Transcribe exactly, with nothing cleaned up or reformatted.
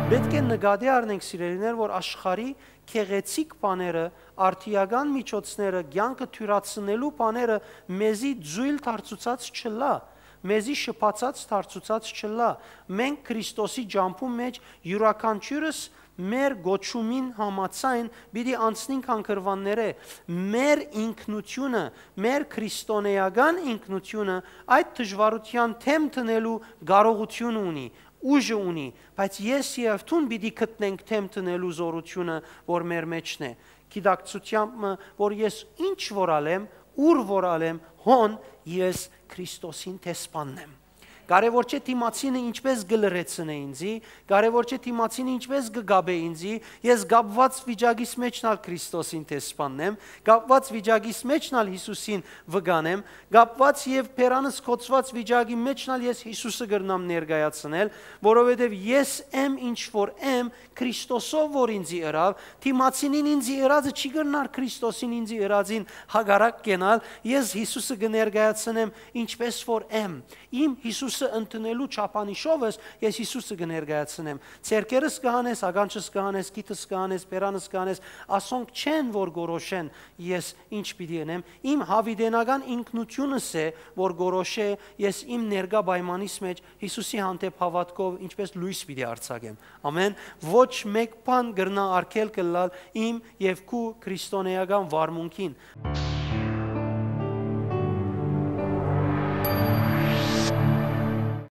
Պէտք է նկատի առնենք, սիրելիներ, որ աշխարհի գեղեցիկ բաները, արդիական միջոցները, կեանքը թիւրացնելու բաները մեզի ձոյլ դարձուցած չըլլայ, մեզի շփացած դարձուցած չըլլայ։ Մենք Քրիստոսի ճամբուն մէջ իւրաքանչիւրս մեր կոչումին համաձայն պիտի անցնենք հանգրուաններէ։ Մեր ինքնությունը, մեր քրիստոնէական ինքնությունը այդ դժուարութեան դէմ դնելու կարողութիւնը ունի, ուժը ունի, բայց ես եւ դուն պիտի գտնենք դէմ դնելու զօրութիւնը, որ մեր մէջն է, գիտակցութեամբ մը, որ ես ինչ որ ալ եմ, ուր որ ալ եմ, հոն ես Քրիստոսին դեսպանն եմ։ Կարեւոր չէ դիմացինը ինչպես կը լռեցնէ ինձի, կարեւոր չէ դիմացինը ինչպես կը կապէ ինձի, ես կապուած վիճակիս մէջն ալ Քրիստոսին դեսպանն եմ, կապուած վիճակիս մէջն ալ Յիսուսին վկանեմ, կապուած եւ բերանս կոծուած վիճակի մէջն ալ ես Յիսուսը կրնամ ներկայացնել, որովհետեւ ես եմ ինչ որ եմ Քրիստոսով որ ինձի ըրաւ, դիմացինին ինձի ըրածը չի կրնար Քրիստոսին ինձի ըրածին հակառակ կենալ, ես Յիսուսը կը ներկայացնեմ ինչպես որ եմ։ Իմ Յիսուսը ընդունելու չափանիշովս ես Յիսուսը կը ներկայացնեմ։ Ձեռքերս կը հանես, ականջս կը հանես, քիթս կը հանես, բերանս կը հանես, ասոնք չեն որ կորոշեն ես ինչ պիտի ընեմ։ Իմ յաւիտենական ինքնությունս է որ կորոշէ ես իմ ներկայ պայմանիս մէջ Յիսուսի հանդէպ հաւատքով ինչպես լոյս պիտի արձակեմ։ Ամեն, ոչ մէկ բան կրնայ արգելք ըլլալ իմ եւ քու քրիստոնէական վարմունքին։